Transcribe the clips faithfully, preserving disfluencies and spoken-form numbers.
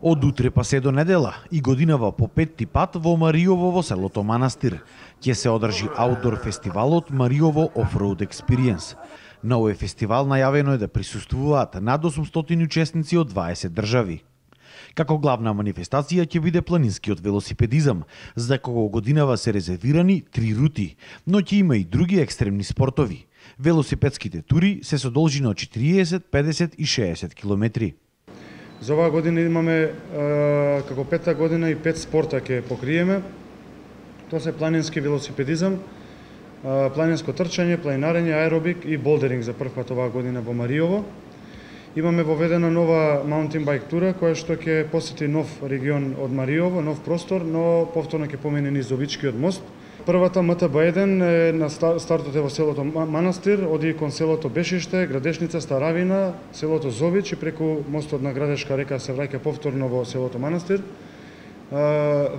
Од утре па се до недела и годинава по петти пат во Мариово во селото Манастир ќе се одржи аутдор фестивалот Мариово Offroad Experience. На овој фестивал најавено е да присуствуваат над осумстотини учесници од дваесет држави. Како главна манифестација ќе биде планинскиот велосипедизам, за кого годинава се резервирани три рути, но ќе има и други екстремни спортови. Велосипедските тури се со должина од четириесет, педесет и шеесет километри. За оваа година имаме како петта година и пет спорта ќе покриеме. Тоа се планински велосипедизам, планинско трчање, планинарење, аеробик и болдеринг за прв пат оваа година во Мариово. Имаме воведена нова маунтин байк тура која што ќе посети нов регион од Мариово, нов простор, но повторно ќе помине низ Обичкиот мост. Првата М Т Б еден е на стартот е во селото Манастир, оди кон селото Бешиште, Градешница, Старавина, селото Зович и преку мостот на Градешка река се враќа повторно во селото Манастир.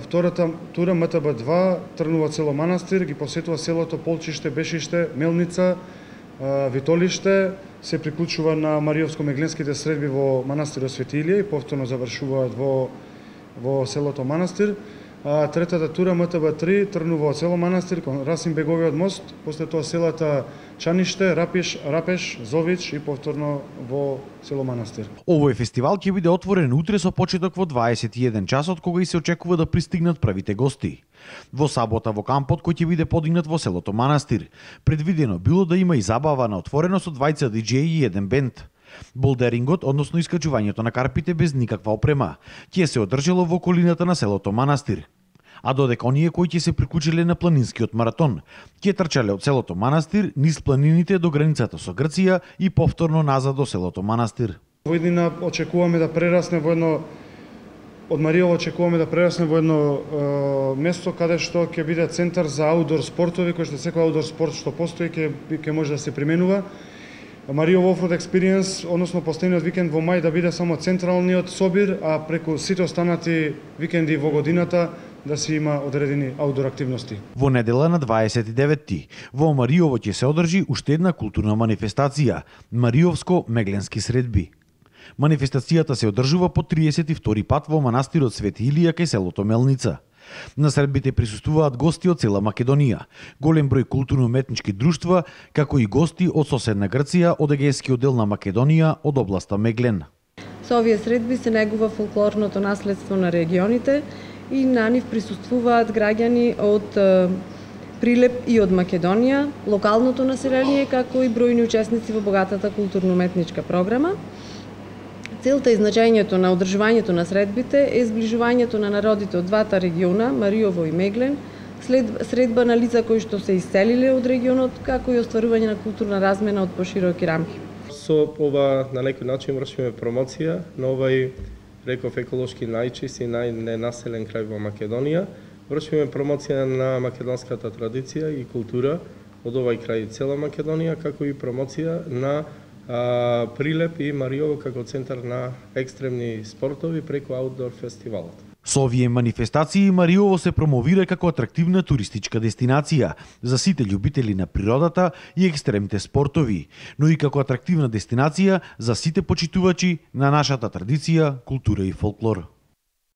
Втората тура М Т Б два тргнува од село Манастир, ги посетува селото Полчиште, Бешиште, Мелница, Витолиште, се приклучува на Мариовско-мегленските средби во Манастирот Свети Илија и повторно завршуваат во во селото Манастир. А третата тура М Т Б три тргнува од село Манастир кон Расимбеговиот мост, после тоа селата Чаниште, Рапиш, Рапеш, Зович и повторно во село Манастир. Овој фестивал ќе биде отворен утре со почеток во дваесет и еден часот, кога и се очекува да пристигнат првите гости. Во сабота во кампот кој ќе биде подигнат во селото Манастир, предвидено било да има и забава на отворено со двајца диџеи и еден бенд. Болдерингот, односно искачувањето на карпите без никаква опрема, ќе се одржало во околината на селото Манастир. А додека оние кои ќе се приклучиле на планинскиот маратон, ќе трчале од селото Манастир низ планините до границата со Грција и повторно назад до селото Манастир. Во иднина очекуваме да прерасне во едно од Мариово очекуваме да прерасне во едно е, место каде што ќе биде центар за аутдор спортови, кој што секој аутдор спорт што постои ќе ќе може да се применува. Мариово Offroad Experience, односно постојниот викенд во мај да биде само централниот собир, а преку сите останати викенди во годината да се има одредени аутдор активности. Во недела на дваесет и деветти во Мариово ќе се одржи уште една културна манифестација – Мариовско-мегленски средби. Манифестацијата се одржува по триесет и втори пат во Манастирот Свети Илија кај селото Мелница. На средбите присуствуваат гости од цела Македонија, голем број културно-уметнички друштва, како и гости од соседна Грција, од егејскиот дел на Македонија, од областа Меглен. Со овие средби се негува фолклорното наследство на регионите и на нив присуствуваат граѓани од Прилеп и од Македонија, локалното население, како и бројни учесници во богатата културно-уметничка програма. Целта и значењето на одржувањето на средбите е зближувањето на народите од двата региона, Мариово и Меглен, след средба на лица кои што се иселиле од регионот, како и остварување на културна размена од пошироки рамки. Со ова на некој начин вршиме промоција на овај, реков, еколошки најчист и најненаселен крај во Македонија. Вршиме промоција на македонската традиција и култура од овај крај цела Македонија, како и промоција на А, Прилеп и Мариово како центар на екстремни спортови преку аутдор фестивалот. Со овие манифестации Мариово се промовира како атрактивна туристичка дестинација за сите љубители на природата и екстремните спортови, но и како атрактивна дестинација за сите почитувачи на нашата традиција, култура и фолклор.